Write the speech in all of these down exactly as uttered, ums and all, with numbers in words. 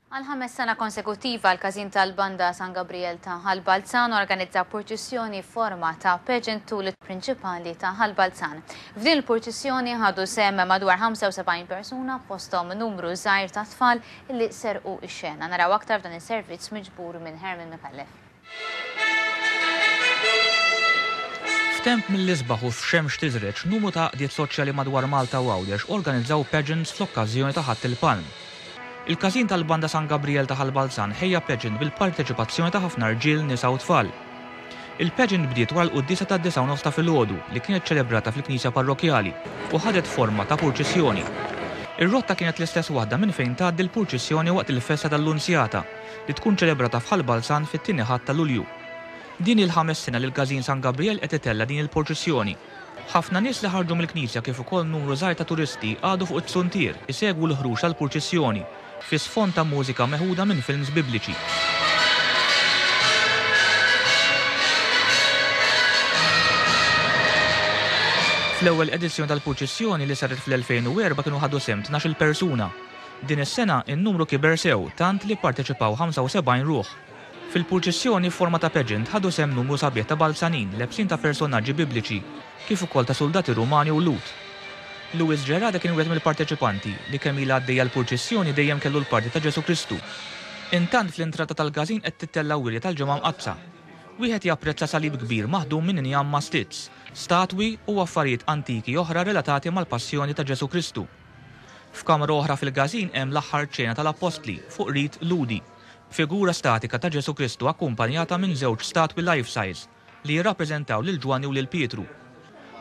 Għal ħames sena konsekutiva l-Każin tal-Banda San Gabriel ta' Ħal Balzan organizza purċissjoni forma ta' pageant tul prinċipali ta' Ħal Balzan. F'din il-purċissjoni ħadu sehem madwar ħamsa u sebgħin persuna, fosthom numru żgħir ta' tfal li serqu ix-xena. Naraw aktar f'dan is-servizz miġbur minn Herman Micallef. F'temp mill-isbaħ u f'xemx tiżreġ, numru ta' għaqdiet soċjali madwar Malta u Għawdex organizzaw pageants fl-okkażjoni ta' Ħadd il-Palm. Il-Każin tal-Banda San Gabriel ta' Ħal Balzan ħejja pageant bil-parteċipazzjoni ta' ħafna rġiel, nisa u tfal. Il-pageant bdiet wara l-quddiesa ta' disgħa u nofs ta' filgħodu li kienet ċelebrata fil-Knisja Parrokjali u ħadet forma ta' purċissjoni. Ir-rotta kienet l-istess waħda minn fejn tgħaddi l-purċissjoni waqt il-festa tal-Lunzjata li tkun ċelebrata f'Ħal Balzan fit-tieni Ħadd ta' Lulju. Din il-ħames sena li l-Każin San Gabriel qed itella' din il-purċissjoni. Ħafna nies li ħarġu mill-knisja kif ukoll numru żgħir ta' turisti qagħdu fuq it-suntier isegwu l-ħruġ tal-purċissjoni fi sfond ta' mużika meħuda minn films bibliċi. Fl-ewwel edizzjoni tal-purċissjoni li saret fl-elfejn u erbgħa kienu ħadu sehem tnax-il persuna. Din is-sena in-numru kiber sew tant li parteċipaw ħamsa u sebgħin ruħ. Fil-purċissjoni forma ta' pageant ħadu sehem numru sabiħ ta' Balzanin lebsin ta' personaġġi bibliċi kif ukoll ta' soldati Rumani u Lhud. Louis Gerada kien wieħed mill-parteċipanti li kemm ilha għaddejja l-purċissjoni dejjem kellu l-parti ta' Ġesu Kristu. Intant fl-intrata tal-każin qed tittella' wirja tal-Ġimgħa Mqaddsa. Wieħed japprezza salib kbir maħdum minn injam mastizz, statwi u affarijiet antiki oħra relatati mal-passjoni ta' Ġesu Kristu. F'kamra oħra fil-każin hemm l-aħħar ċena tal-Appostli fuq rit Lhudi, figura statika ta' Ġesu Kristu akkumpanjata minn żewġ statwi life size li jirrappreżentaw lil Ġwanni u lil Pietru.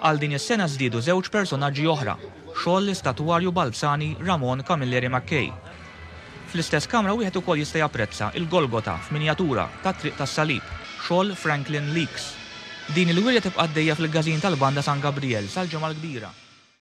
Għal din is-sena żdiedu żewġ personaġġi oħra, xogħol l-istatwarju Balzani Ramon Camilleri Mackay. Fl-istess kamra wieħed ukoll jista' japprezza il-Golgota f'minjatura tat-Triq tas-Salib, xogħol Franklin Leaks. Din il-wirja tibqa' għaddejja fil-Każin tal-Banda San Gabriel sal-Ġimgħa l-Kbira.